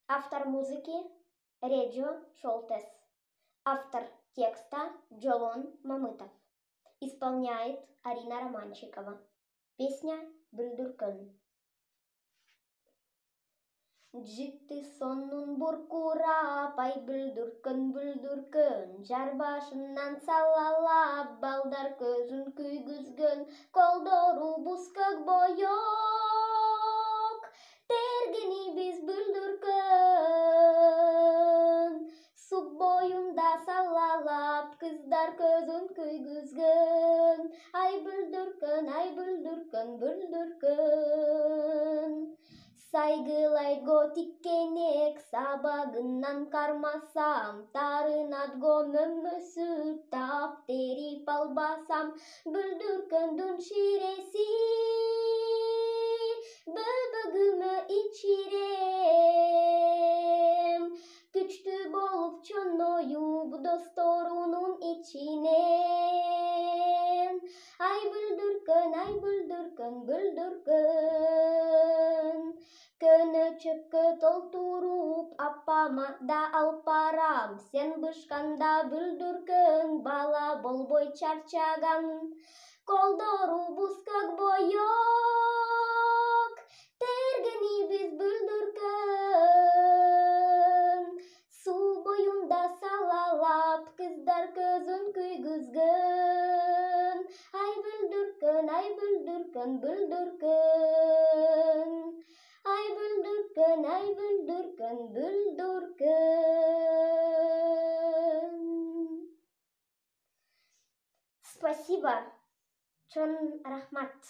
Автор музыки Реджо Шолтес. Автор текста Джолон Мамытов. Исполняет Арина Романчикова. Песня «Бүлдүркүн». Житти сонун буркурап, ай бүлдүркүн, бүлдүркүн, жар башынан салалап, балдар көзүн күйгүзгөн, колдору буз көк боёк, тергени биз бүлдүркүн, су боюнда салалап, кыздар көзүн күйгүзгөн, ай бүлдүркүн, бүлдүркүн. Сайгылайго тиккенек, сабагынан кармасам, тарынатго мөмөсү таптерип албасам, бүлдүркүндүн ширеси бөбөгүмө ичирем, күчтүү болуп чоноюп досторунун ичинен, ай бүлдүркүн, бүлдүркүн. Көнө чөпкө толтуруп, апама да алып барам, сен бышканда бүлдүркүн, бала болбой чарчаган, колдору буз көк боёк, тергени биз бүлдүркүн, суу боюнда салалап, кыздар көзүн күйгүзгөн, ай бүлдүркүн, бүлдүркүн. Ай бүлдүркүн, бүлдүркүн. Спасибо. Чоң рахмат.